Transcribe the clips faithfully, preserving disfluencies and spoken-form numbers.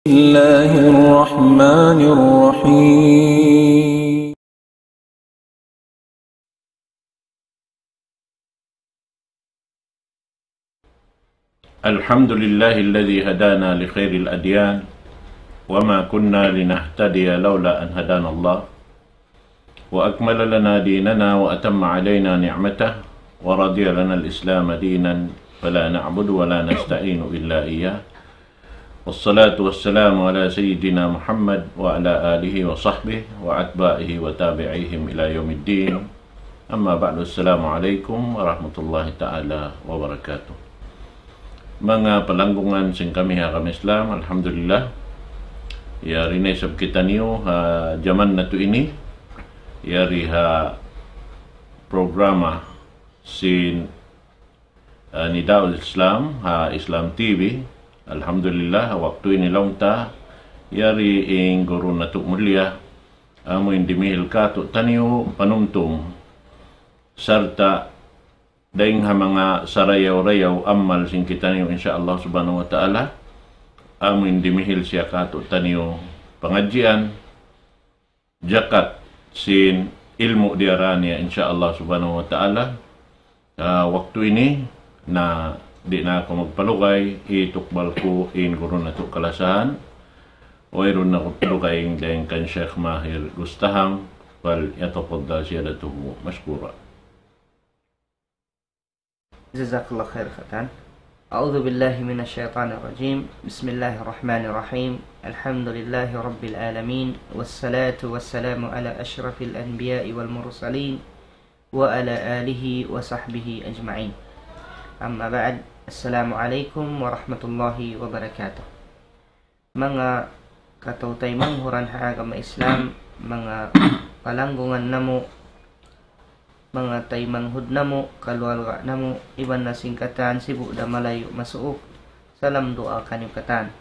الله الرحمن الرحيم. الحمد لله الذي هدانا لخير الأديان وما كنا لنهتدي لولا أن هدانا الله وأكمل لنا ديننا وأتم علينا نعمته ورضي لنا الإسلام دينا فلا نعبد ولا نستعين إلا إياه والصلاة والسلام على سيدنا محمد وعلى آله وصحبه وأتباعه وتابعيهم إلى يوم الدين. أما بعد، السلام عليكم ورحمة الله تعالى وبركاته. Manga palanggungan sin kami ha agama Islam, alhamdulillah. Yari na isab kitaniyu ha jaman natu' ini. Yari ha programa sin, ah, Nidaul Islam ha Islam T V. Alhamdulillah, waktu ini laung ta, yari in guru natu' mulia, amu in dimihil kātu'niyu panumtum, sarta' dayng ha manga sarayaw-rayaw amal sin kitaniyu, insya Allah subhanahu wa ta'ala, amu in dimihil siya kātu'niyu pangadjian, jakat sin ilmu' diyara niya, insya Allah subhanahu wa ta'ala. Ah, waktu ini, na di' na aku magpalugay, hitukbal ku in guru natu' kalasahan, wayruun na aku lugay dayng kan Sheikh Mahir Gustaham, فليتفضل سيادته مشكورا. جزاك الله خير katan. أعوذ بالله من الشيطان الرجيم. بسم الله الرحمن الرحيم. الحمد لله رب العالمين، والصلاة والسلام على أشرف الأنبياء والمرسلين، وعلى آله وصحبه أجمعين. أما بعد، السلام عليكم ورحمة الله وبركاته. Manga kataw-taymanghuran ha agama Islam, manga palanggungan namu', manga taymanghud namu', kaluarga namu', iban na sin katan sibu' da malayu' masuuk, salam duwaa kaniyu katan.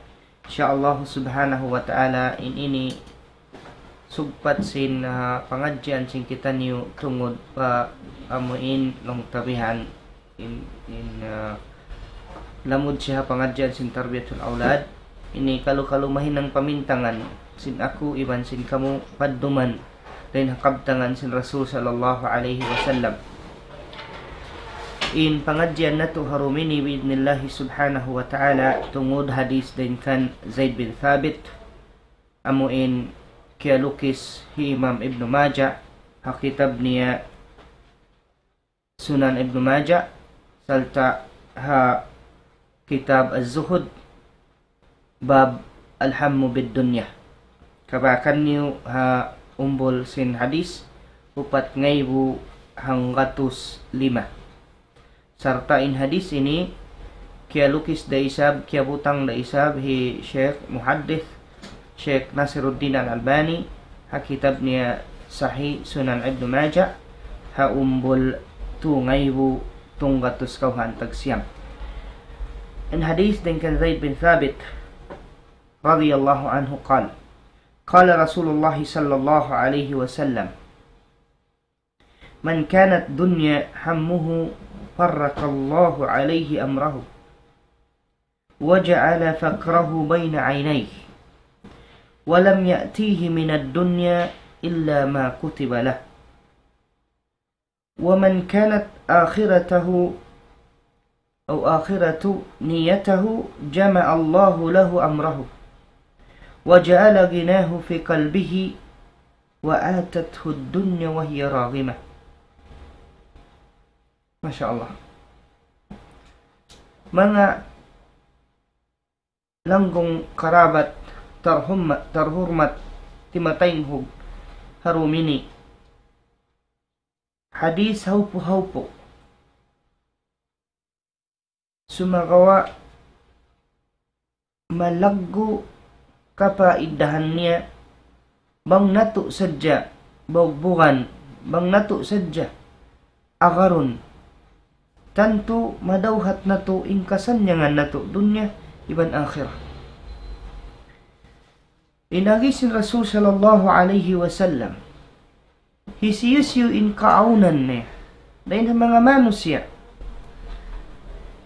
Insya Allah subhanahu wa ta'ala, in ini sugpat sin, ah, pangadjian sin kitaniyu tungud pa amu in laung ta bihan in, in, ah, lamud siya ha pangadjian sin tarbiyatul awlad. Ini kalu-kalu mahinang pamintangan sin aku iban sin kamu padduman dayn ha kabtangan sin Rasul sallallahu alayhi wasallam. In pangadjian natu' ha dum ini bi'idhnillahi subhanahu wa ta'ala tungud hadith dayn kan Zaid bin Thabit, amu in kiyalukis hi Imam Ibnu Majah ha kitab niya Sunan Ibnu Majah, sarta' ha kitab Az-Zuhud, bab Al-Hammu bid-Dunya. Kabakan niyu ha umbul sin hadith, upat ngaibu hanggatus lima. Sarta' in hadith ini, kiyalukis da isab, kiyabutang da isab hi Sheikh Muhaddith, Sheikh Nasiruddin Al-Albani, ha kitab niya Sahih Sunan Ibnu Majah, ha umbul tū ngaibu tū gatus kawhaan tag siyam. In hadith dayn kan Zaid bin Thabit, رضي الله عنه قال، قال رسول الله صلى الله عليه وسلم، من كانت الدنيا همه فرق الله عليه أمره، وجعل فقره بين عينيه، ولم يأته من الدنيا إلا ما كتب له، ومن كانت آخرته أو آخرة نيته جمع الله له أمره، وجعل غناه في قلبه، وأتته الدنيا وهي راغمة. Masha Allah. Manga langgung karabat tarhumma-, tarhurmat timataynghug ha dum ini. Hadith haupu-haupu. Sumagawa' malaggu' kapaidahan niya, bang natu' sadja baugbugan, bang natu' sadja agarun. Tantu madawhat natu' in kasannyangan natu' dunya iban akhirat. In agi sin Rasul sallallahu alayhi wasallam, hisiyu-siyu in kaawnan niya dayn ha manga manusiya',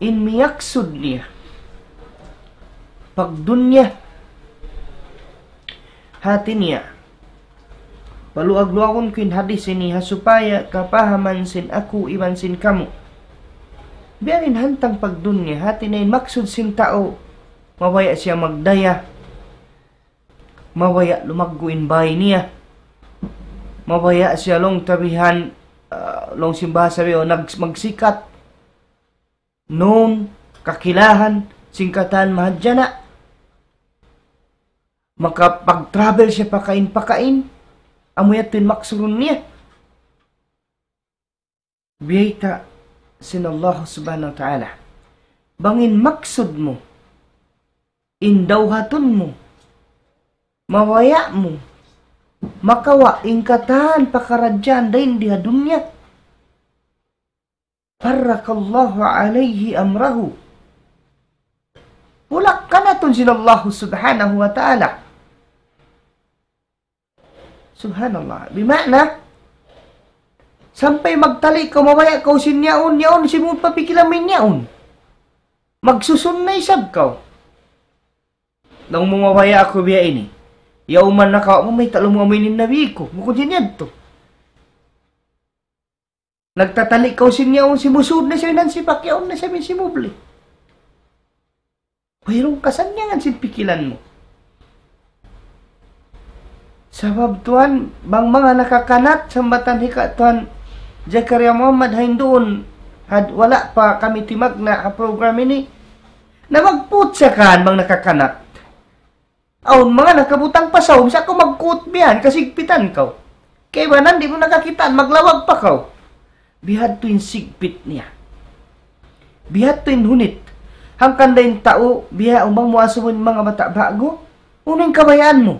in miyaksud niya pagdunya, Hati niya, paluag-luagun ku in hadith ini ha supaya kapahaman sin aku iban sin kamu. Biya' diin hantang pagdunya, hati niya in maksud sin tau, mabaya' siya magdaya, mabaya' lumaggu' in bāy niya, mabaya' siya laung ta bihan, ah, laung sin bahasa biya' nag-, magsikat, known, kakilahan, sin katan mahadjana', makapag-travel siya pakain-pakain, amu yadtu in maksud niya. Biyayta' sin Allah Subhanahu wa Ta'ala. Bang in maksud mu, in dawhatun mu, mabaya' mu makawa' in katan pakaradjaan dayn di ha dunya, فرق الله عليه أمره. Ulak kanatun sin Allah Subhanahu wa Ta'ala. Subhanallah. Bima'na, sampay magtali' kaw, mabaya' kaw sin yaun, yaun, simud pa pikilan mu in yaun. Magsusun na isab kaw. Laung mu mabaya' aku biya' ini. Yaun man nakawa' mu, mayta' laung mu amu ini in nabi ku. Bukun sin yadtu. Nagtatali' kaw sin yaun, simusud na siya in hansipak, yaun na siya in simubli. Wayruun kasannyangan sin pikilan mu. Sabab tuwan, bang manga nakakanat, sambatan hi ka tuwan Zakaria Muhammad ha yan duun, had-, wala' pa kami timagna' ha program ini, na magputsa kan bang nakakanat. Awn manga nakabutang pa sawm, sa' kaw magkut biya' yan, kasigpitan kaw. Kaibanan di' mu na kakitaan, maglawag pa kaw. Bihadtu in sigpit niya. Bihadtu in hunit. Hangkan da in tau, biya' umang mu asubuhun manga bata' ba'gu, unu in kabayaan mu?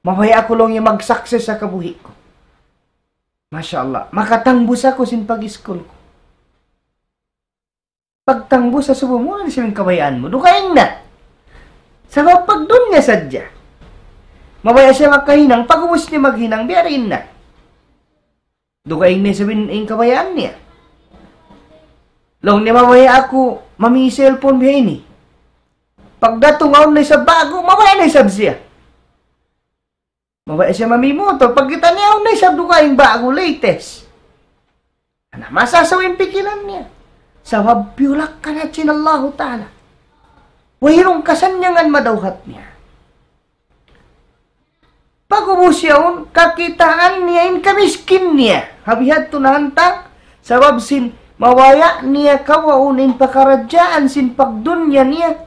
Mabaya' aku laung niya mag-success ha kabuhi' ku. Masha Allah. Makatangbus aku sin pag-iskul ku. Pagtangbus asubuhun mu, unu na isab in kabayaan mu? Dugaing na. Sabab pagdunya sadja. Mabaya' siya makahinang, pag'ubus niya maghinang, biya' diin na. Dugaing na isab in, in kabayaan niya. Laung niya mabaya' aku, mami cellphone biya' ini. Pagdatung awn na isab ba'gu, mabaya' na isab siya. Mabaya' siya mami motor, pagkita' niya, awn na isab dugaing ba'gu, latest. Na, masasaw in pikilan niya. Sabab piyulak kanat sin Allahu Ta'ala. Wayruun kasannyangan madawhat niya. Pag'ubus yaun, kakitaan niya in kamiskin niya. Ha bihadtu na hantang, sabab sin mabaya' niya kawaun in pakaradjaan sin pagdunya niya.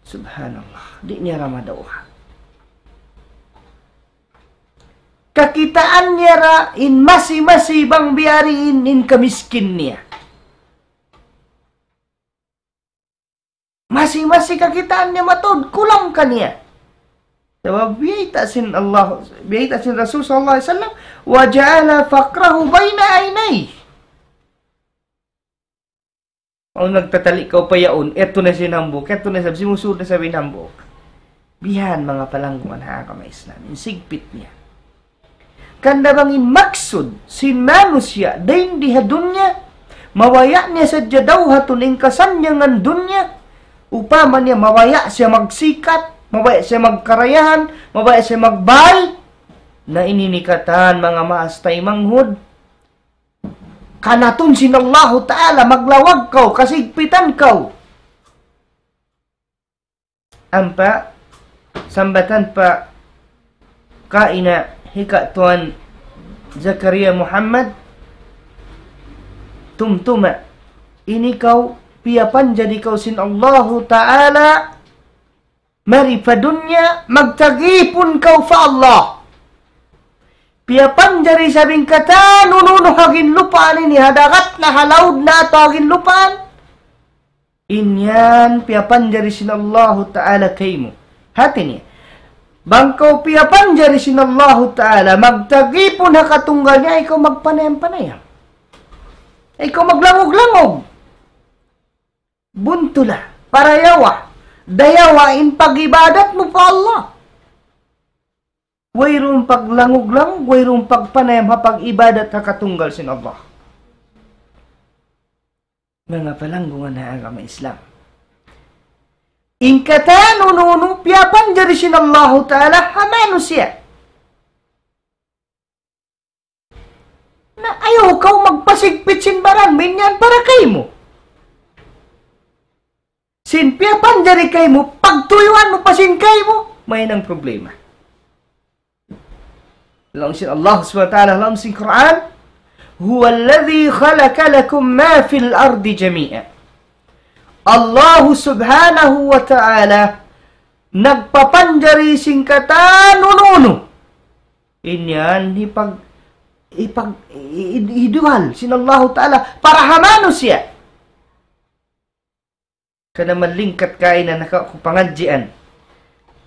Subhanallah, di' niya ra madawhat. Kakitaan niya ra in masi-masi bang biya' diin in kamiskin niya. Masi-masi kakitaan niya mataud kulang kaniya. Sabab biyayta' sin Allah, biyayta' sin Rasul sallallahu alayhi wasallam, وجعل فقره بين عينيه. Awn nagtatali' kaw pa yaun, yadtu na siya in hambuuk, yadtu na isab, simusud na isab in hambuuk. Biya' yan manga palanggungan ha agama Islam, in sigpit niya. Hangkan da bang in maksud sin manusiya' dayn di ha dunya, mabaya' niya sadja dawhatun in kasannyangan dunya, upama niya mabaya' siya magsikat, mabaya' siya magkarayahan, mabaya' siya magbāy, na ini in katan manga maas taymanghud, kanatun sin Allahu Ta'ala, maglawag kaw, kasigpitan kaw. Ampa, sambatan pa kaina hi ka tuwan Zakaria Muhammad, tumtuma, ini kaw piyapanjari kaw sin Allahu Ta'ala, mari pa dunya, magtag-ipun kaw pa Allah. Piyapanjari isab in katan unu-unu ha ginlupaan ini, ha dagat na, ha laud na, atawa ha ginlupaan. In yan piyapanjari sin Allahu Ta'ala kaymu. Hati niya, bang kaw piyapanjari sin Allahu Ta'ala, magtag-ipun ha katunggal niya, ayaw kaw magpanayam-panayam. Ayaw kaw maglangug-langug. Buntula, parayawa, dayawa in pag-ibadat mu pa Allah. Wayruun paglangug-langug, wayruun pagpanayam ha pag-ibadat ha katunggal sin Allah. Manga palanggungan ha agama Islam. In katan unu-unu piyapanjari sin Allahu Ta'ala ha manusiya'. Na ayaw kaw magpasigpit sin baran, minyan para kaymu. Sin piyapanjari kaymu, pagtuyuan mu pa sin kaymu, mayan in problema. Laung sin Allah subhanahu wa ta'ala, laung sin Qur'an, هو الذي خلق لكم ما في الأرض جميعا. Allah subhanahu wa ta'ala nagpapanjari sin katan unu-unu. In yan hipag-, hipag-, i-, i-, iduhal sin Allahu Ta'ala para ha manusiya'. Kana malingkat kaina naka-, ku pangadjian.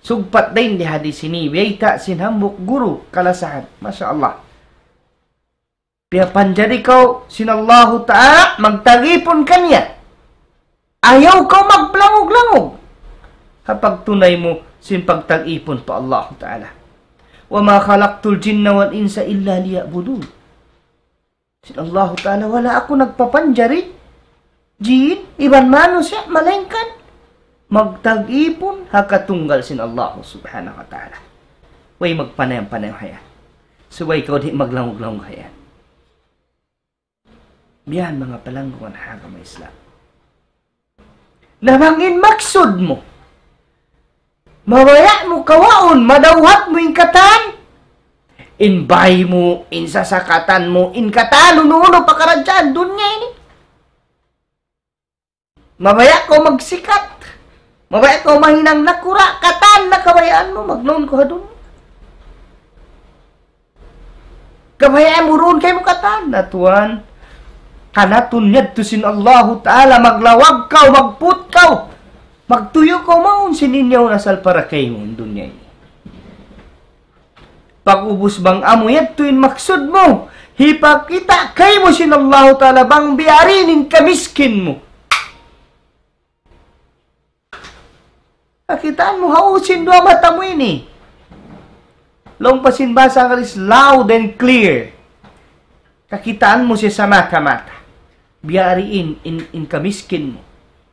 Sugpat dayn di hadis ini, biyayta' sin hambuuk guru kalasahan. Masha Allah. Piyapanjari kaw sin Allahu Ta'ala, magtag-ipun kaniya. Ayaw kaw magpalangug-langug ha pagtunay mu sin pagtag-ipun pa Allahu Ta'ala. وما خلقت الجن والإنس إلا ليعبدون. Sin Allahu Ta'ala, wala' aku nagpapanjari jin iban manusiya', malaingkan magtag-ipun ha katunggal sin Allahu Subhanahu wa Ta'ala. Way magpanayam-panayam ha yan. Subay kaw di' maglangug-langug ha yan. Biya' yan manga palanggungan ha agama Islam. Na bang in maksud mu, mabaya' mu kawaun, madawhat mu in katan, in bay mu, in sasakatan mu, in katan, unu-unu pakaradjaan dunya ini. Mabaya' kaw magsikat, mabaya' kaw mahinang nakura', katan na kabayaan mu, magnaun kaw ha dunya. Kabayaan mu duun kaymu katan. Na tuwan, kanatun yadtu sin Allahu Ta'ala, maglawag kaw, magput kaw, magtuyu' kaw, mawn sin in yaun asal para kaymu in dunya ini. Pag'ubus bang amu yadtu in maksud mu, hipakita' kaymu sin Allahu Ta'ala bang biya' diin in kamiskin mu. Kakitaan mu ha u sin duwa mata mu ini. Laung pa sin bahasa Anggalis, loud and clear. Kakitaan mu siya sa mata-mata. Biya' diin in, in kamiskin mu,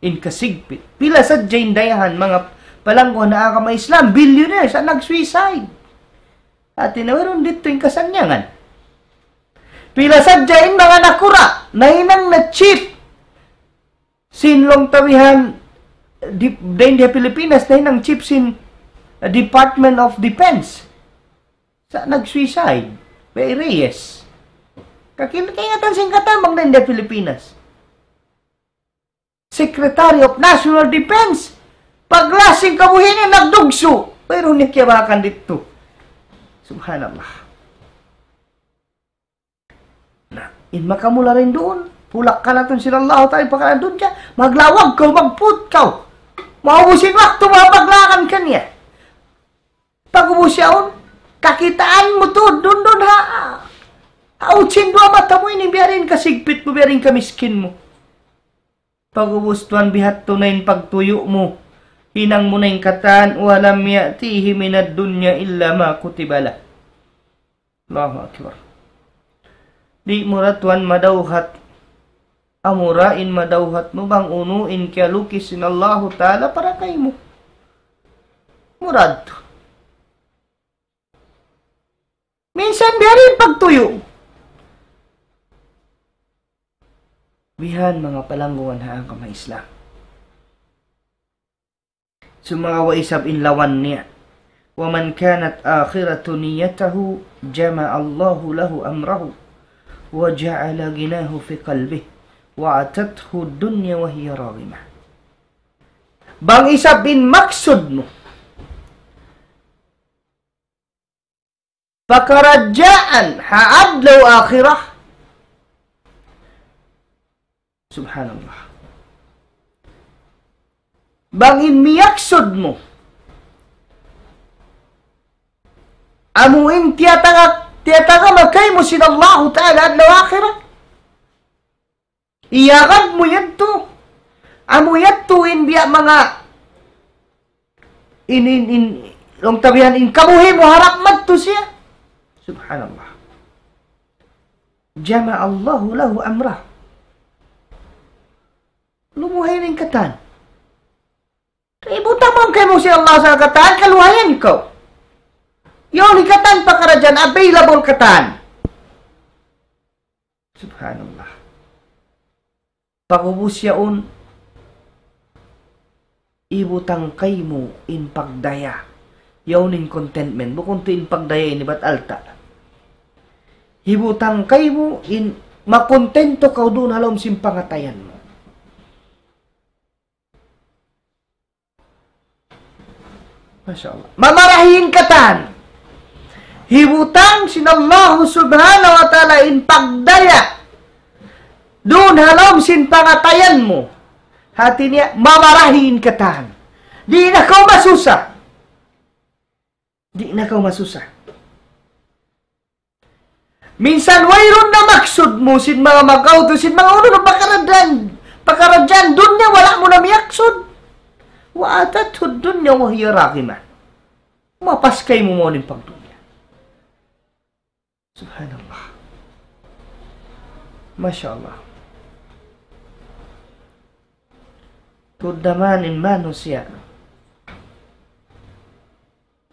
in kasigpit. Pila sadja in dayahan, manga palangguhan ha agama Islam, billionaires, sa' nag-suicide. Hati niya wayruun didtu in kasannyangan. Pila sadja in manga nakura', nahinang na chief sin laung ta bihan, di-, dayn di ha Pilipinas, nahinang chief sin, uh, Department of Defense. Sa' nag-suicide, Rey Reyes. Kakil-, kaingatan sin katan bang dayn di ha Pilipinas. Secretary of National Defense. Paglasing kabuhi' niya nagdugsu'. Pero niya kiyabakan didtu. Subhanallah. Na, in makamula dayn duun, pulak kanatun sin Allahu Ta'ala, pakaran dunya, maglawag kaw, magput kaw. Maubus in waktu mu ha paglakan kaniya. Pag'ubus yaun, kakitaan mu tuud, duun-duun ha, ha u sin duwa mata mu ini, biya' diin kasigpit mu, biya' diin kamiskin mu. Pag'ubus tuwan bihadtu na in pagtuyu' mu, hinang mu na in katan, ولم يأته من الدنيا إلا ما كتب له. Allahu Akbar. Di' mu da tuwan madawhat. Amura in madawhat mu bang unu in kiyalukis sin Allahu Ta'ala para kaymu. Murad. Minsan biya' diin pagtuyu'. Bihan manga palangguan ha agama Islam. Sumagawa' isab in lawan niya. ومن كانت آخرة نيته جمع الله له أمره وجعل غناه في قلبه وأتته الدنيا وهي راغمة. Bang isab in maksud mu pakaradjaan ha adlaw akhirat. Subhanallah. Bang in miyaksud mu, amu in tiyataga-, tiyatagama kaymu sin Allahu Ta'ala adlaw akhirat. Iyagad mu yadtu. Amu yadtu in biya' manga in, in, in, laung ta bihan in kabuhi' mu harap madtu siya. Subhanallah. جمع الله له أمره. Lumuhay na in katan. Ibutang mu kaymu sin Allah sa katan, kaluhayan kaw. Yaun in katan pakaradjaan, available katan. Subhanallah. Pag'ubus yaun, ibutang kaymu in pagdaya. Yaun in contentment. Bukun tuud in pagdaya ini bat alta'. Ibutang kaymu in makontento kaw duun ha lawm sin pangatayan mu. Masha Allah. Mamarahi in katan. Hibutang sin Allah subhanahu wa ta'ala in pagdaya duun ha lawm sin pangatayan mu. Hati niya, mamarahi in katan. Di' na kaw masusa. Di' na kaw masusa. Minsan wayruun na maksud mu sin manga magautu, sin manga unu-unu pakaradjaan, pakaradjaan dunya, wala' mu na miyaksud. وأتته الدنيا وهي راغمة. Mapas kaymu mawn in pagdunya. Subhanallah. Masha Allah. Tuud da man in manusiya'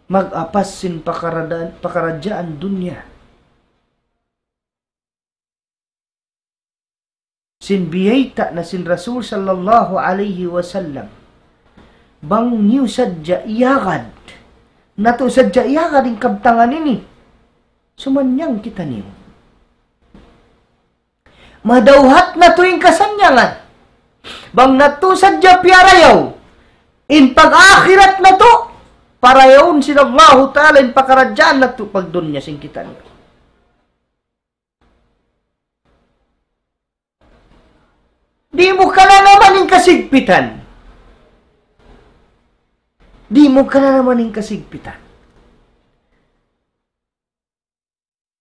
mag-apas sin pakaradjaan, pakaradjaan dunya. Sin biyayta' na sin Rasul sallallahu alayhi wasallam. Bang niyu sadja iyagad. Natu' sadja iyagad in kabtangan ini. Sumannang kitaniyu. Madawhat natu' in kasannyangan. Bang natu' sadja piyarayaw in pag-akhirat natu', parayawun sin Allahu Ta'ala in pakaradjaan natu' pagdunya sin kitaniyu. Di' mu kananaman in kasigpitan. Di' mu kananaman in kasigpitan.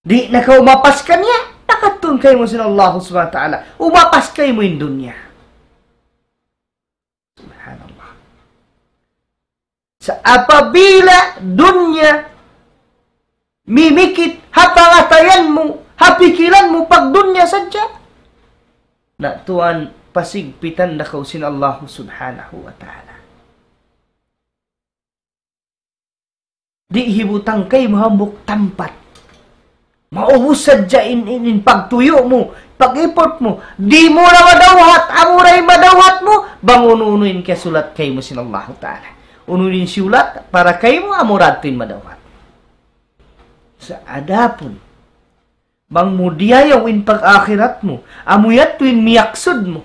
Di' na kaw mapas kaniya, pakatun kaymu sin Allah subhanahu wa ta'ala. Umapas kaymu in dunya. Subhanallah. Sa' apabila dunya mimikit ha pangatayan mu, ha pikilan mu, pagdunya sadja, na tuwan pasigpitan na kaw sin Allah subhanahu wa ta'ala. Di' hibutang kaymu hambuuk tampat. Maubus sadja in, in, in pagtuyu' mu, pag-effort mu. Di' mu na madawhat, amura in madawhat mu, bang unu-unu in kiyasulat kaymu sin Allahu Ta'ala. Unu in siyulat, para kaymu, amura yadtu in madawhat. Sa' adapun, bang mu diyayaw in pag-akhirat mu, amu yadtu in miyaksud mu.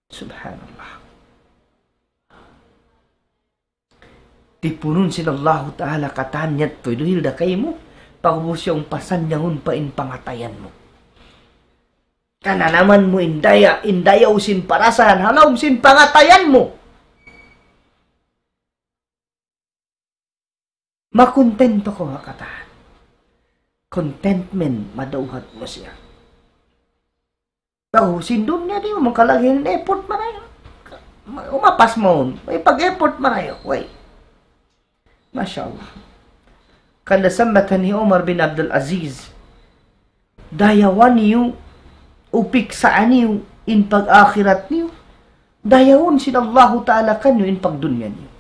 Subhanallah. Tipunun sin Allahu Ta'ala katan yadtu duhil da kaymu, pag'ubus yaun pasannyangun pa in pangatayan mu. Kananaman mu in daya, in dayaw sin parasahan, ha lawm sin pangatayan mu. Makontento kaw ha katan. Contentment, madawhat mu siya. Tau, sin dunya di' mu makalagay in effort marayaw. Umapas mawn, way pag-effort marayaw, way. Masha Allah. Hangkan da sambatan hi Umar bin Abdul Aziz, dayawa niyu, u piksaa niyu in pag-akhirat niyu, dayawun sin Allahu Ta'ala kaniyu in pagdunya niyu.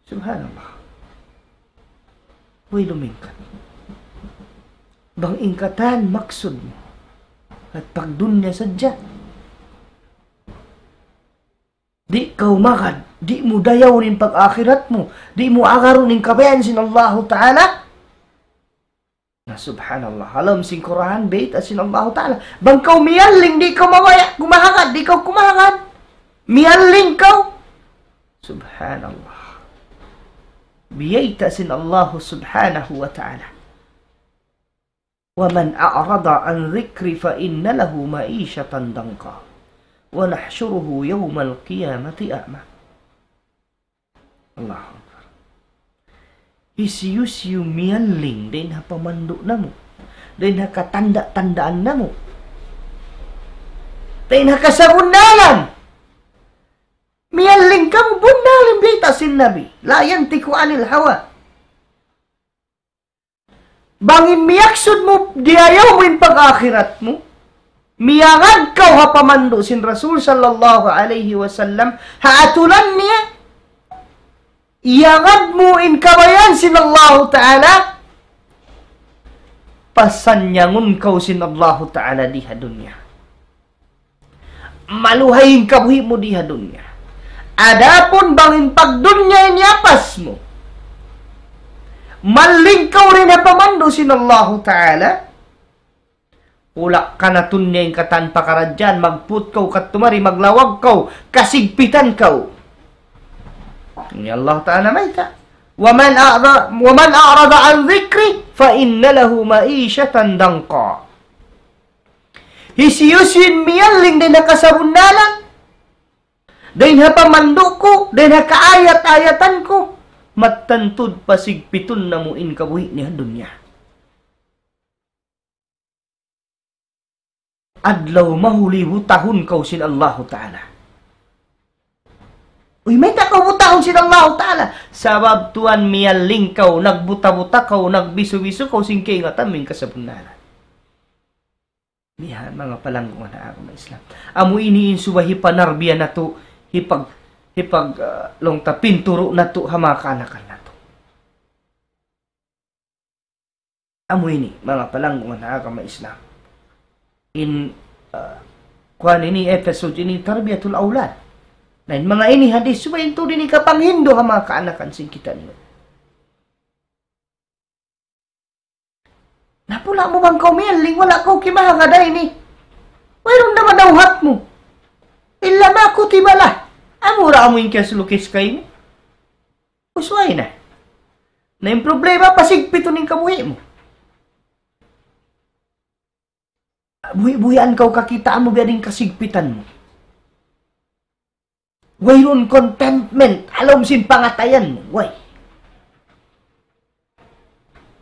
Subhanallah. Way lumingkat. Bang in katan maksud mu, at pagdunya sadja, di' kaw magad, di' mu dayawun in pag-akhirat mu, di' mu agarun in kabayaan sin Allahu Ta'ala. Na, subhanallah. Ha lawm sin Qur'an, bayta' sin Allahu Ta'ala. Bang kaw miyalling, di' kaw mabaya', kumahagad, di' kaw kumahagad. Miyalling kaw. Subhanallah. Biyayta' sin Allahu Subhanahu wa Ta'ala. ومن أعرض عن ذكري فإن له معيشة ضنكا ونحشره يوم القيامة أعمى. Allahu Akbar. Hisiyu-siyu miyalling dayn ha pamandu' namu', dayn ha katanda'-tandaan namu', dayn ha kasabunnalan. Miyalling kamu, bunnal in bayta' sin Nabi. لا ينطق عن الهوى. Bang in miyaksud mu, diyayaw mu in pag-akhirat mu, miyagad kaw ha pamandu' sin Rasul sallallahu alayhi wasallam, ha aturan niya, iyagad mu in kabayaan sin Allahu Ta'ala, pasannyangun kaw sin Allahu Ta'ala di ha dunya. Maluhay in kabuhi' mu di ha dunya. Adapun bang in pagdunya in iyapas mu, malling kaw dayn ha pamandu' sin Allahu Ta'ala, wala' kanatun niya in katan pakaradjaan, magput kaw katumari, maglawag kaw, kasigpitan kaw. Ini Allah Ta'ala mayta'. ومن أعرض، ومن أعرض عن ذكري فإن له معيشة ضنكا. Hisiyu-siyu in miyalling dayn ha kasabunnalan, dayn ha pamandu' ku, dayn ha kaayat-ayatan ku, mattan tuud pasigpitun namu' in kabuhi' niya ha dunya. Adlaw mahuli butahun kaw sin Allahu Ta'ala. Uy, mayta' kaw butahun sin Allahu Ta'ala? Sabab tuwan miyalling kaw, nagbuta-buta kaw, nagbisu-bisu kaw sin kaingatan mu in kasabunnalan. Bihan, manga palanggungan ha agama Islam. Amu ini in subay hipanarbiya natu', hipag-, hipag-, ah, laung ta pinturu' natu' ha manga kaanakan natu'. Amu ini, manga palanggungan ha agama Islam. In, ah, kuwan ini, episode ini, tarbiyatul awlad. Na in manga ini hadith, subay in tuud ini kapanghindu' ha manga kaanakan sin kitaniyu. Napula' mu bang kaw miyalling, wala' kaw kimahagad ha ini. Wayruun na madawhat mu. إلا ما كتب له. Amura amu in kiyasulukis kaymu. Usway na. Na in problema, pasigpitun in kabuhi' mu. Buhi'-buhian kaw kakitaan mu, biya' diin kasigpitan mu. Wayruun contentment, ha lawm sin pangatayan mu. Way.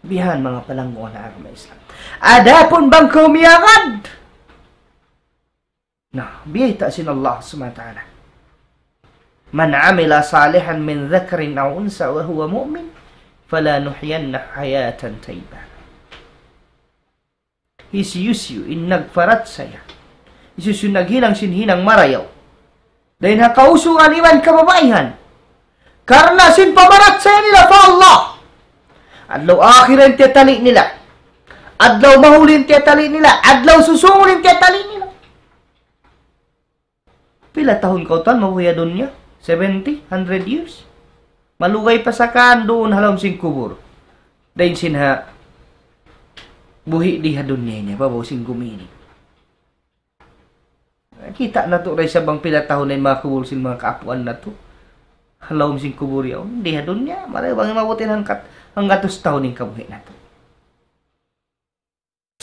Bihan, manga palanggungan ha agama Islam. Adapun bang kaw miyagad, na, biyayta' sin Allah Subhanahu wa Ta'ala. من عمل صالحا من ذكر أو أنثى وهو مؤمن فلنحيينه حياة طيبة. Hisiyu-siyu in nagparachaya, hisiyu-siyu in naghinang sin hinang marayaw dayn ha kausugan iban kababaihan, karna' sin pamarachaya nila pa Allah, adlaw akhirat in tiyatali' nila, adlaw mahuli in tiyatali' nila, adlaw susūngun in tiyatali' nila. Pila tahun kaw tuwan mabuhi' ha dunya? Seventy? Hundred years? Malugay pa sa kan duun ha lawm sin kubul. Dayn sin ha buhi' di ha dunya ini, babaw sin gumi ini. Kita' natu' da isab bang pila tahun na in manga kubul sin manga kaapuan natu'. Ha lawm sin kubul yaun, di ha dunya, marayaw bang in maabut in hangkat, hanggatus tahun in kabuhi' natu'.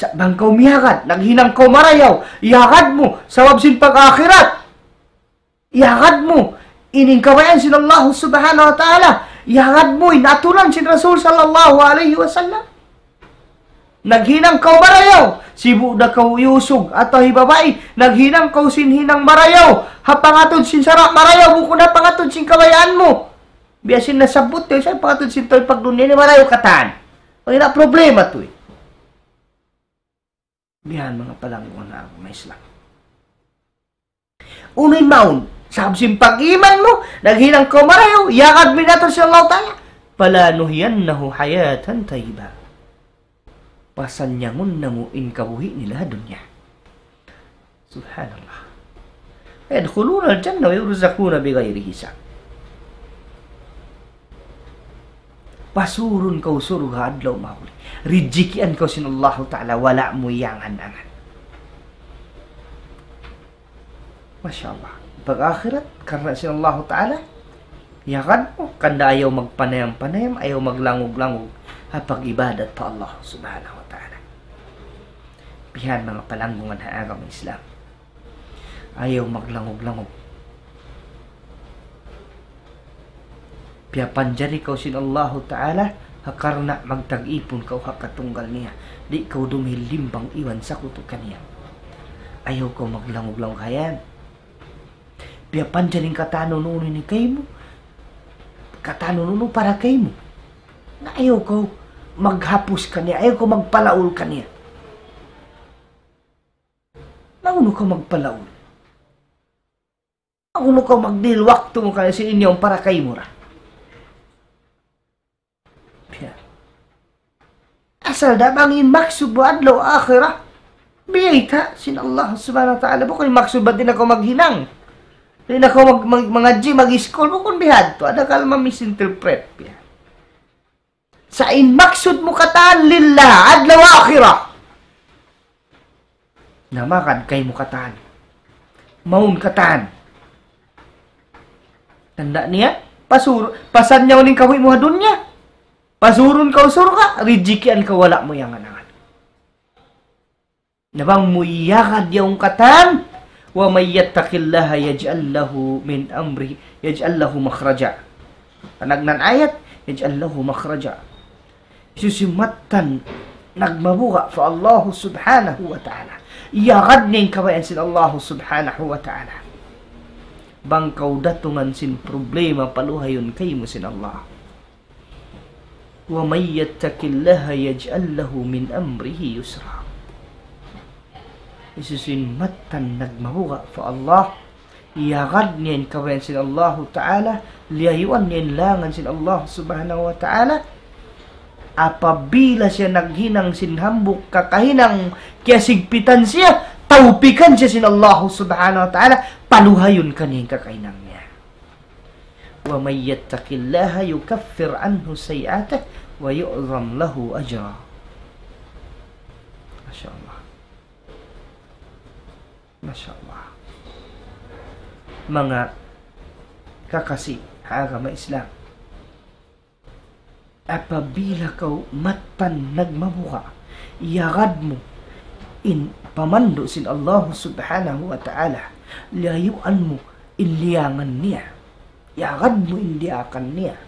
Sa' bang kaw miyagad, naghinang kaw marayaw, iyagad mu, sabab sin pag-akhirat. Iyagad mu, ini in kabayaan sin Allah Subhanahu wa Ta'ala. Iyagad mu, in aturan sin Rasul sallallahu alayhi wasallam. Naghinang kaw marayaw, sibu' da kaw iyusug, atawa hi babai, naghinang kaw sin hinang marayaw, ha pangatud sin sara' marayaw, bukun ha pangatud sin kabayaan mu. Biya' sin nasabbut, sa' pangatud sin tau pagdunya ini marayaw katan. Wala' problema tuud. Bihan manga palanggungan ha agama Islam. Unu in mawn, sabab sin pag-iman mu, naghinang kaw marayaw, iyagad mu in aturan sin Allah Ta'ala. فلنحيينه حياة طيبة. Pasannyangun namu' in kabuhi' nila ha dunya. Subhanallah. يدخلون الجنة ويرزقون بغير حساب. Pasurun kaw surga' adlaw mahuli. Rijikian kaw sin Allahu Ta'ala, wala' mu iyangan-angan. Masha Allah. Pag-akhirat, karna' sin Allahu Ta'ala, iyagad mu, hangkan da ayaw magpanayam-panayam, ayaw maglangug-langug, ha pag-ibadat pa Allah Subhanahu wa Ta'ala. Bihan manga palanggungan ha agama Islam. Ayaw maglangug-langug. Piyapanjari kaw sin Allahu Ta'ala, ha karna' magtag-ipun kaw ha katunggal niya. Di' kaw dumihil limbang iban sakutu kaniya. Ayaw kaw maglangug-langug ha yan. Piyapanjari in katan unu-unu ini kaymu. Katan unu-unu para kaymu. Na ayaw kaw maghapus kaniya, ayaw kaw magpalaul kaniya. Na Unu kaw magpalaul? Unu kaw magdihil waktu mu kaniya sin ini yaun para kaymu ra? Biya'. Asal da bang in maksud mu adlaw akhirat, biyayta' sin Allah Subhanahu wa Ta'ala. Bukun in maksud bat di' na kaw maghinang, di' na kaw mag-, mag-, mangadji', mag-iskul, bukun bihadtu. Ada kala ma-misinterpret. Biya'. Sa' in maksud mu katan lillah, adlaw akhirat. Na magad kaymu katan. Mawn katan. Tanda' niya, pasur-, pasan niya in kabuhi' mu ha dunya. Pasurun kaw surga', rijikian kaw wala' mu iyangan-angan. Na bang mu iyagad yaun katan, وَمَن يَتَّقِ اللَّهَ يَجْعَل لَّهُ مِنْ أَمْرِهِ، يَجْعَل لَّهُ مَخْرَجًا. Panagnaan ayat, يَجْعَل لَّهُ مَخْرَجًا. Hisiyu-siyu in mattan nagmabuga' pa Allah Subhanahu wa Ta'ala, iyagad niya in kabayaan sin Allah Subhanahu wa Ta'ala. Bang kaw datungan sin problema, paluhayun kaymu sin Allah. وَمَن يَتَّقِ اللَّهَ يَجْعَل لَّهُ مِنْ أَمْرِهِ يُسْرًا. Hisiyu-siyu in mattan nagmabuga' pa Allah, iyagad niya in kabayaan sin Allahu Ta'ala, liyayuan niya in langan sin Allah Subhanahu wa Ta'ala. Apabila siya naghinang sin hambuuk kakahinang kiyasigpitan siya, tawpikan siya sin Allah Subhanahu wa Ta'ala, paluhayun kaniya in kakahinang niya. وَمَن يَتَّقِ اللَّهَ يُكَفِّرْ عَنْهُ سَيِّئَاتِهِ وَيُعْظِمْ لَهُ أَجْرًا. Masha Allah. Masha Allah. Manga kakasi ha agama Islam. Apabila kaw mattan nagmabuga', iyagad mu in pamandu' sin Allah Subhanahu wa Ta'ala, liyayuan mu in liyangan niya, iyagad mu in diyakan niya,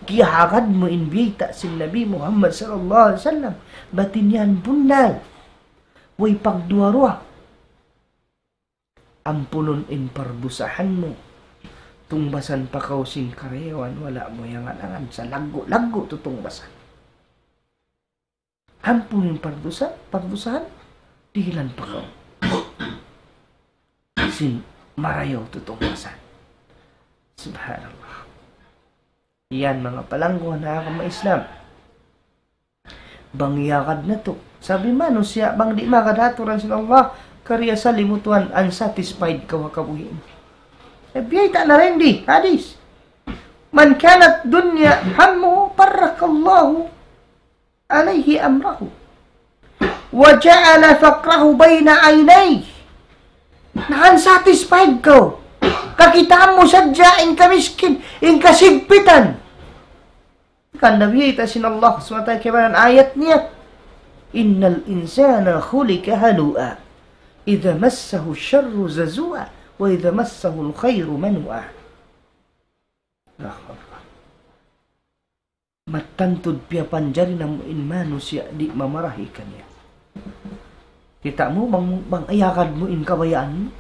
kiyagad mu in biyayta' sin Nabi Muhammad sallallahu alayhi wasallam, bat in yan bunnal, way pagduwa-ruwa. Ampunun in pardusahan mu. Tungbasan pa kaw sin karayawan, wala' mu iyangan-angan, sa' laggu'-laggu' tu tungbasan. Ampunun in pardusa-, pardusahan, dihilan pa kaw sin marayaw tu tungbasan. Subhanallah. Yan, manga palangguan ha agama Islam. Bang iyagad natu'. Sabab in manusiya', bang di' magad ha aturan sin Allah, kariasali mu tuwan, unsatisfied kaw ha kabuhi' mu. Eh, biyayta' na rin di, hadis. مَنْ كَانَتِ الدُّنْيَا هَمُّهُ فَرَّقَ اللَّهُ عَلَيْهِ أَمْرَهُ وَجَعَلَ فَقْرَهُ بَيْنَ عَيْنَيْهِ. Na unsatisfied kaw. Kakitaan mu sadja in kamiskin, in kasigpitan. Hangkan da biyayta' sin Allah subhanahu wa ta'ala kaibanan ayat niya, إِنَّ الْإِنسَانَ خُلِقَ هَلُوعًا إِذَا مَسَّهُ الشَّرُّ جَزُوعًا وَإِذَا مَسَّهُ الْخَيْرُ مَنُوعًا. Allahu Akbar. Mattan tuud piyapanjari namu' in manusiya' di' mamarahi kaniya. Kita' mu bang, bang iyagad mu in kabayaan mu.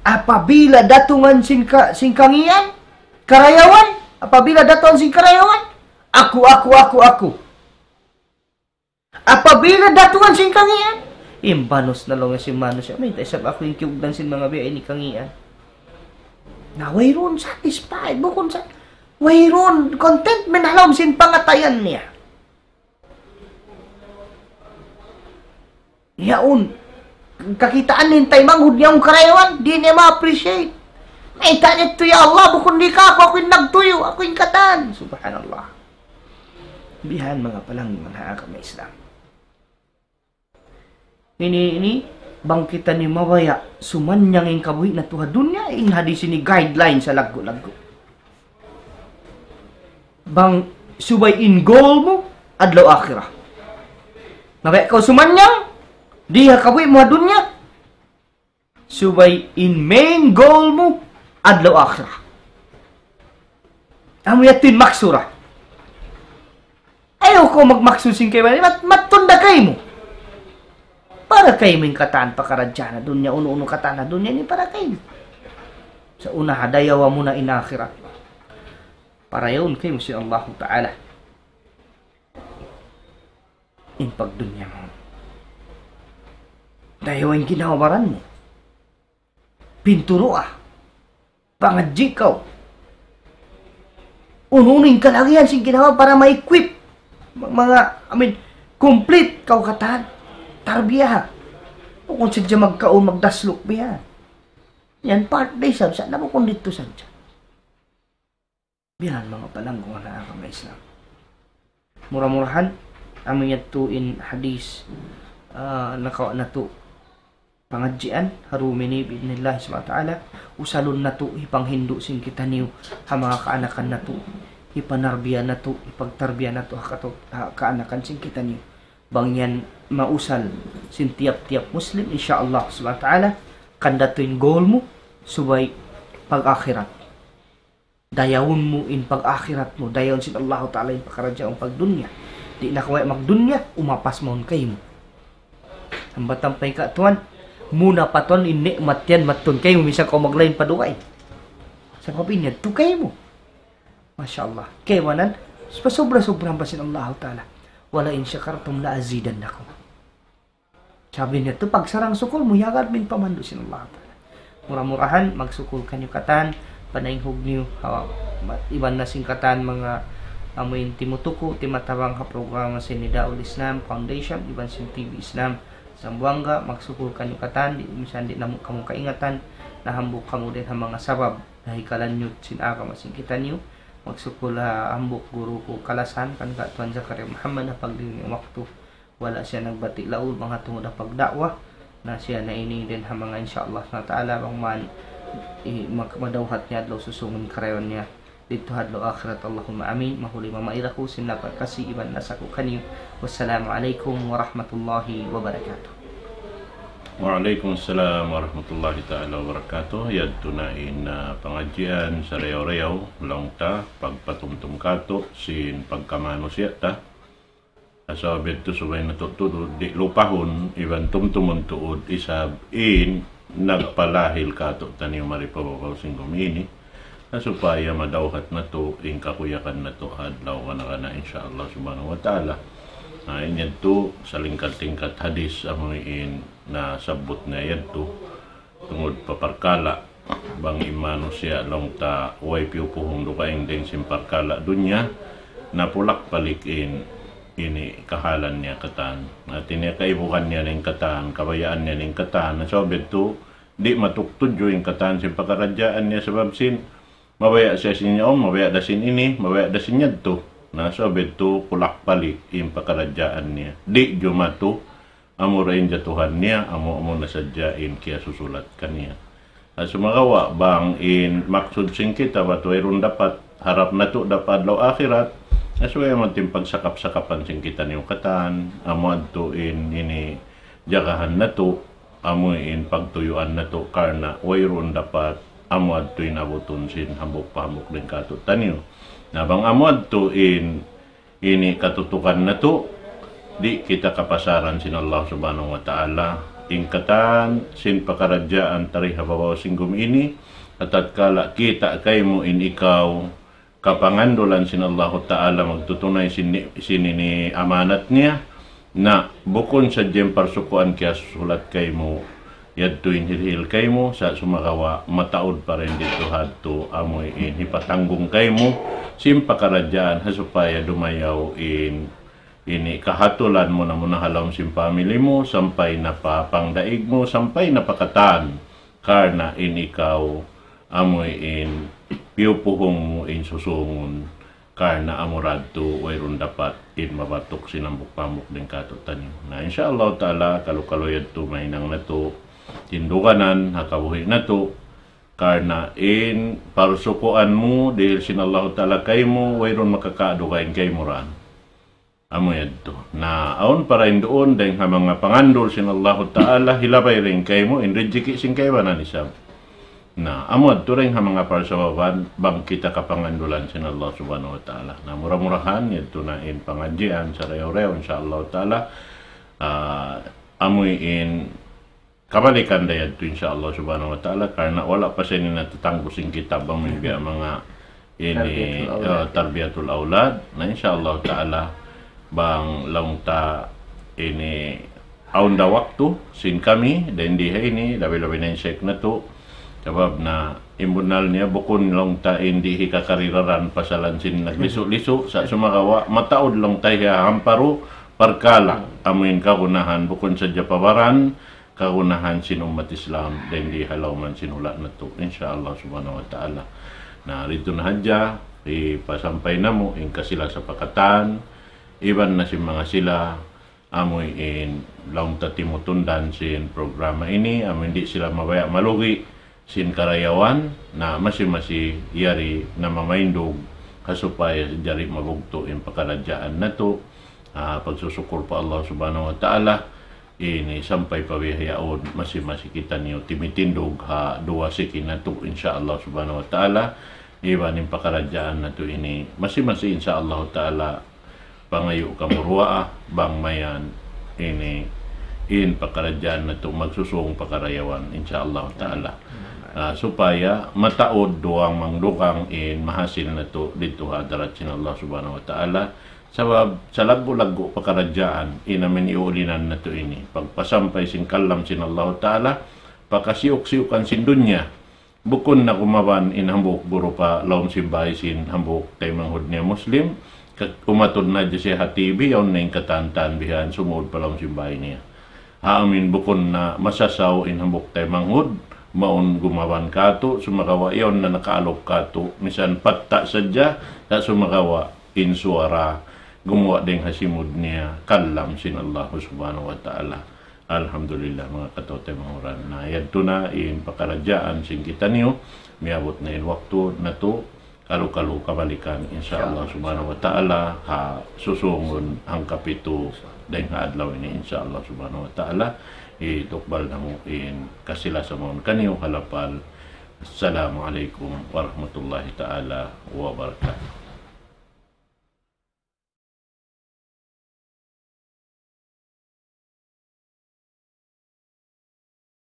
Apabila datungan sin ka-, sin kangīan, karayawan, apabila datungan sin karayawan, aku, aku, aku, aku. Apabila datungan sin kangīan, imbanus na laung sin manusiya', "Mayta' isab aku in kiyugdan sin manga biya' ini kangīan?" Na, wayruun satisfied, bukun sa, wayruun contentment ha lawm sin pangatayan niya. Yaun, kakitaan niya in taymanghud niya in karayawan, di' niya ma-appreciate. Mayta' niya tu, "Ya Allah, bukun di' ka aku, aku in nagtuyu', aku in katan." Subhanallah. Bihan manga palangguan ha agama Islam. Ini, ini, bang kita ini mabaya' sumanyang in kabuhi' natu' ha dunya, in hadis ini guideline sa laggu'-laggu'. Bang subay in goal mu, adlaw akhirat. Mabaya' kaw sumanyang, di ha kabuhi' mu ha dunya, subay in main goal mu, adlaw akhirat. Amu yadtu in maksud ra. Ayaw kaw magmaksud sin kaibanan, mat-, matun da kaymu. Para kaymu in katan pakaradjaan ha dunya, unu-unu katan ha dunya ini para kaymu. Sa' una ha dayawa mu na in akhirat. Para yaun kaymu sin Allahu Ta'ala in pagdunya mu. Dayawa in ginhawa-baran mu. Pinturuha. Pangadji' kaw. Unu-unu in kalagihan sin ginhawa para ma-equip. Ma-, manga, I mean, complete kaw katan. Tarbiyaha. Bukun sadja magkaun, magdasluk biya'. Yan part da isab sa, na bukun didtu sadja. Biya' yan manga palanggungan ha agama Islam. Mura-murahan, amu yadtu in hadith, ah, nakawa' natu' pangadjian, ha dum ini bi'idhnillah subhanahu wa ta'ala, usalun natu' hipanghindu' sin kitaniyu, ha manga kaanakan natu', hipanarbiya natu', hipagtarbiya natu', ha katu-, ha kaanakan sin kitaniyu. Bang yan mausal sin tiyap-tiyap Muslim, insya Allah subhanahu wa ta'ala, kandatu in goal mu, subay pag-akhirat. Dayawun mu in pag-akhirat mu, dayawun sin Allahu Ta'ala in pakaradjaan pagdunya. Di' na kaw magdunya, umapas mawn kaymu. Hambatan pa in katuan, muna pa tuan in ni'mat yan, matun kaymu, misan kaw maglain pa dugaing. Sabab in yan, tu kaymu. Masha Allah. Kaibanan, pasubra-subra pa sin Allahu Ta'ala. وَلَئِن شَكَرْتُمْ لَأَزِيدَنَّكُمْ. Sabi niya tu, pagsarang-sukul mu, yagad mu in pamandu' sin Allah Ta'ala. Mura-murahan, magsukul kaniyu katan, panainghug niyu, ha, ma-, iban na sin katan manga amu in timutuku, timatabang ha programa sin Nidaul Islam Foundation, iban sin T V Islam Zamboanga, magsukul kaniyu katan, di', misan di' namu' kamu kaingatan, na hambuuk kamu dayn ha manga sabab, na hikalanyut sin agama sin kitaniyu, magsukul ha hambuuk guru ku kalasahan, kan Ka Tuan Zakaria Muhammad, ha pagdihil niya waktu. Wala' siya nagbati' laung bang ha tungud ha pagda'wa. Na siya na ini dayn ha manga insya Allah subhanahu wa ta'ala bang man i-, mag-, madawhat niya adlaw susungun karayawan niya didtu ha adlaw akhirat. Allahumma amin. Mahuli mamaid aku sin lapal kasi iban lasa ku kaniyu. Wassalamu alaykum warahmatullahi wabarakatuh. Wa alaykum assalam warahmatullahi ta'ala wabarakatuh. Yadtu na in, ah, pangadjian sarayaw-rayaw, laung ta, pagpatumtum katu' sin pagkamanusiya' ta. Sabab yadtu subay natu' tuud di' lupahun, iban tumtumun tuud isab in nagpalahil katu'taniyu mari pa babaw sin gumi ini. Na supaya madawhat natu' in kakuyagan natu' ha adlaw kana-kana, insya Allah subhanahu wa ta'ala. Na in yadtu salingkat-lingkat hadis amu in nasabbut niya yadtu. Tungud pa parkala', bang in manusiya' laung ta way piyupuhung dugaing dayn sin parkala' dunya, na pulak-palik in ini kahalan niya katan. Hati niya kaibuhan niya na in katan, kabayaan niya na in katan. Na sabab yadtu, di' matuktudju in katan sin pakaradjaan niya sabab sin mabaya' siya sin yaun, mabaya' da sin ini, mabaya' da sin yadtu. Na sabab yadtu, pulak-palik in pakaradjaan niya. Di' jumatu, amu ra in jatuhan niya, amu-amu na sadja in kiyasusulat kaniya. Na sumagawa' bang in maksud sin kita bat wayruun dapat, harap natu' dapat adlaw akhirat, na subay amu yadtu in pagsakap-sakapan sin kitaniyu katan, amu yadtu in ini jagahan natu', amu in pagtuyuan natu' karna' wayruun dapat, amu yadtu in abutun sin hambuuk pa hambuuk dayn katu'taniyu. Na bang amu yadtu in ini katutukan natu', di' kita kapasaran sin Allah Subhanahu wa Ta'ala, in katan sin pakaradjaan ta di ha babaw sin gumi ini, ha tatkala kita' kaymu in ikaw kapangandulan sin Allahu Ta'ala magtutunay sin, sin ini amanat niya, na bukun sadja in parsukuan kiyasusulat kaymu, yadtu in hirihil kaymu, sa' sumagawa' mataud pa dayn didtu ha yadtu amu in hipatanggung kaymu sin pakaradjaan ha supaya dumayaw in ini kahatulan muna-muna ha lawm sin family mu sampay na pa pangdaig mu sampay na pa katan karna' in ikaw amu in piyupuhung mu in susungun. Karna' amu ra yadtu wayruun dapat in mabatuk sin hambuuk pa hambuuk dayn katu'taniyu. Na, insya Allah Ta'ala, kalu-kalu yadtu mahinang natu' tinduganan ha kabuhi' natu'. Karna' in parsukuan mu, dihil sin Allah Ta'ala kaymu, wayruun makakaadu kaymu ra. Amu yadtu. Na, awn pa dayn duun, dayn ha manga pangandul sin Allah Ta'ala, hilabay dayn kaymu, in rijiki' sin kaibanan isab. Na, amu yadtu dayn ha manga parsababan bang kita kapangandulan sin Allah Subhanahu wa Ta'ala. Na, mura-murahan, yadtu na in pangadjian, sarayaw-rayaw, insya Allah Ta'ala. Ah, amu in kabalikan da yadtu, insya Allah Subhanahu wa Ta'ala, karna' wala' pa siya ini natatanggu sin kitab bang biya' manga ini, Tarbiyatul awlad. Ah, tarbiyatul awlad. Na, insya Allah Ta'ala, bang laung ta ini awn da waktu sin kami, dayn di ha ini, labi-labi na in Sheikh natu'. Sabab na in bunnal niya, bukun laung ta in di hikakarilaran pasalan sin naglisu'-lisu', sa' sumagawa', mataud laung ta hiyahamparu, parkala', amuin kagunahan, bukun sadja pa baran, kagunahan sin ummat Islam, dayn di ha lawm sin hula' natu', insya Allah subhanahu wa ta'ala. Na, didtu na hadja, ipasampay namu', in kasila sa pa katan, iban na sin manga sila, amuin laung ta timutundan sin programa ini, amuin di' sila mabaya' malugi sin karayawan, na masi-masi yari na mamaindug ha supaya jari mabugtu' in pakaradjaan natu'. Ah, pagsusukur pa Allah subhanahu wa ta'ala, ini sampay pa bihaun masi-masi kitaniyu timitindug ha duwa siki natu', insya Allah subhanahu wa ta'ala. Iban in pakaradjaan natu' ini masi-masi insya Allah ta'ala pangayu' kamu duwaa, bang mayan ini in pakaradjaan natu' magsusung pa karayawan, insya Allah ta'ala. Ah, supaya mataud duwang mangdugang in mahasil natu' didtu ha hadarat sin Allah subhanahu wa ta'ala. Sabab sa laggu'-laggu' pakaradjaan, in amin iulinan natu' ini, pagpasampay sin kalam sin Allah ta'ala, pakasiyuk-siyukan sin dunya, bukun na kumaban in hambuuk guru pa lawm sin bāy sin hambuuk taymanghud niya Muslim, ka-, umatud na hadja siya ha T V, yaun na in katan-katan bihan sumūd pa lawm sin bāy niya. Ha amin bukun na masasaw in hambuuk taymanghud, mawn gumaban kātu', sumagawa' yaun na nakaalup kātu', misan patta' sadja, sa' sumagawa' in suwara, gumuwa' dayng ha simud niya, kalam sin Allah subhanahu wa ta'ala. Alhamdulillah, manga kataymanghuran. Na, yadtu na in pakaradjaan sin kitaniyu, miyabut na in waktu natu', kalu-kalu kabalikan, insya Allah subhanahu wa ta'ala, ha susungun hangkapitu dayng ha adlaw ini, insya Allah subhanahu wa ta'ala, itukbal namu' in kasila-sa mawn kaniyu ha lapal. Assalamu alaykum warahmatullahi ta'ala wabarakatuh.